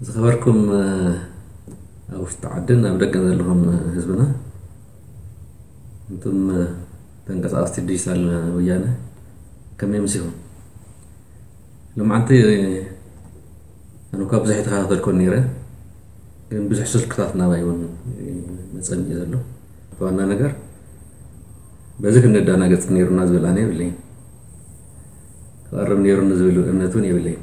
ዝኸበርኩም ኣብ ውሽጢ ዓድን ኣብ ደገን ዘለኹም ህዝብና፣ እንቱም ተንቀሳቐስቲ ዲጂታል ወያነ፣ ከመይ ምሲኹም? ሎማዓንቲ ኣነ እኳ ብዙሕ ይተኸታተልኩ ነይረ፣ ግን ብዙሕ ስልክታት ናባይ እውን መጸኒ እዩ ዘሎ። ዋና ነገር በዚ ክንደናገጽ ነይሩና ዝብል ኣነ የብለይን። ክቐርብ ነይሩኒ ዝብል እምነት እውን የብለይን።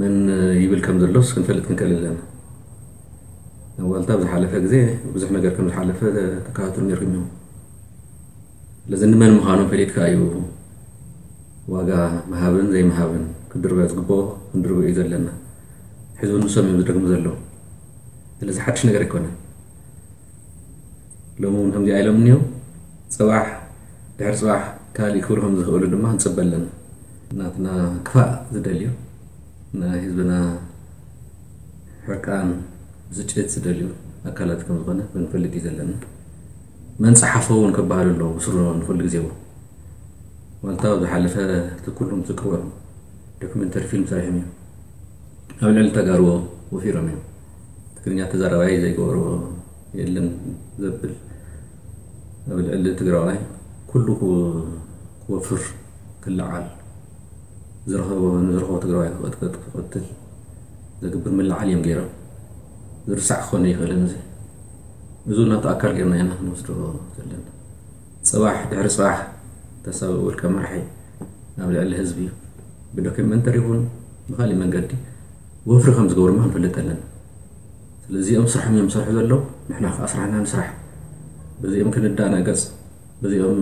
መን ይብል ከም ዘሎስ ክንፈልጥ ክንክእል ኣለና። ኣብ ዋልታ ኣብ ዝሓለፈ ግዜ ብዙሕ ነገር ከም ዝሓለፈ ተካታተሉ ነይርኩም እዮም። ስለዚ ንመን ምዃኑ ፈሊጥካ እዩ ዋጋ ምሃብን ዘይምሃብን። ክድርበ ዝግብኦ ክንድርቦ እዩ ዘለና። ሕዚ እውን ንሶም እዮም ዝደግሙ ዘለዉ። ስለዚ ሓድሽ ነገር ኣይኮነን። ሎሚ እውን ከምዚኣ ኢሎም እኒው። ጽባሕ ድሕሪ ጽባሕ ካሊእ ክብሉ ከም ዝኽእሉ ድማ ንጽበ ኣለና። ናትና ክፋእ ዝደልዩ፣ ናይ ህዝብና ሕርቃን፣ ብስጭት ዝደልዩ ኣካላት ከም ዝኾነ ክንፈልጥ እዩ ዘለና። መን ጸሓፎ እውን ክበሃሉ ኣለዉ ብስሩ ንኹሉ ግዜ እውን። ዋልታ ኣብ ዝሓለፈ እቲ ኩሉም ትዝክርዎ ዶክመንተሪ ፊልም ሰሪሖም እዮም። ኣብ ልዕሊ ተጋርዎ ወፊሮም እዮም። ትግርኛ ተዛራባይ ዘይገብርዎ የለን ዘብል፣ ኣብ ልዕሊ ትግራዋይ ኩሉ ክወፍር ክለዓል፣ ዝረኸቦ ንዝረኸቦ ትግራዋይ ክቐጥቅጥ ክቐትል ዘግብር ምልዓል እዮም ገይሮም። ዝርሳዕ ክኾን ይኽእልን እዚ። እዚ እውን ኣብቲ ኣካል ገይርና ኢና ክንወስዶ ዘለና። ጽባሕ ድሕሪ ጽባሕ ተሳቢ ውልቀ መራሒ ኣብ ልዕሊ ህዝቢ ብዶክመንተሪ ይኹን ብኻሊእ መንገዲ ወፍሪ ከም ዝገብሩ ድማ ክንፈልጥ ኣለና። ስለዚ እዚኦም ስራሖም እዮም ዝሰርሑ ዘለዉ፣ ንሕና ከዓ ስራሕና ንስራሕ። በዚኦም ክንዳናገጽ፣ በዚኦም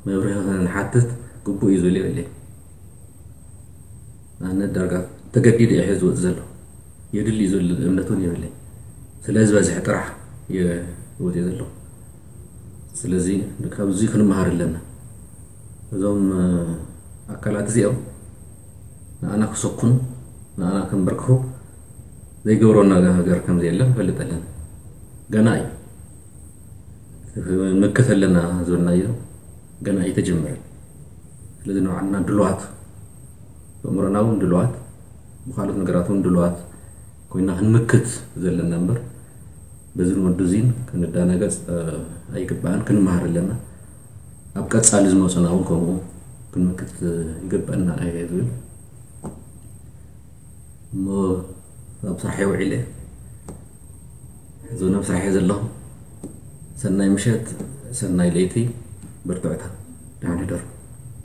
መብርሂ ክንሓትት ግቡእ እዩ ዝብል የብለይ። ኣነ ዳርጋ ተገዲደ እየ ዝወፅ ዘለኹ። የድሊ እዩ ዝብል እምነት እውን የብለይ። ስለ ዝበዝሐ ጥራሕ እየ ዝወፅእ ዘለኹ። ስለዚ ካብዚ ክንመሃር ኣለና። እዞም ኣካላት እዚኦም ንኣና ክሰኩኑ፣ ንኣና ከንበርክኹ ዘይገብረና ነገር ከም ዘየለ ንፈልጥ ኣለና። ገና እዩ። መከት ኣለና ዝበልናዮ ገና ኣይተጀመረን። ስለዚ ንባዕልና ድልዋት፣ ብኣእምሮና እውን ድልዋት፣ ብካልኦት ነገራት እውን ድልዋት ኮይና ክንምክት ዘለና እምበር፣ በዚ ንወዱ እዚን ክንዳናገጽ ኣይግባእን። ክንመሃር ኣለና። ኣብ ቀጻሊ ዝመጹና እውን ከምኡ ክንምክት ይግበኣና እየ ዝብል። እሞ ኣብ ስራሕ ውዒለ፣ ሕዚ እውን ኣብ ስራሕ እየ ዘለኹ። ሰናይ ምሸት፣ ሰናይ ለይቲ፣ በርትዑታ፣ ደሓን ሕደሩ።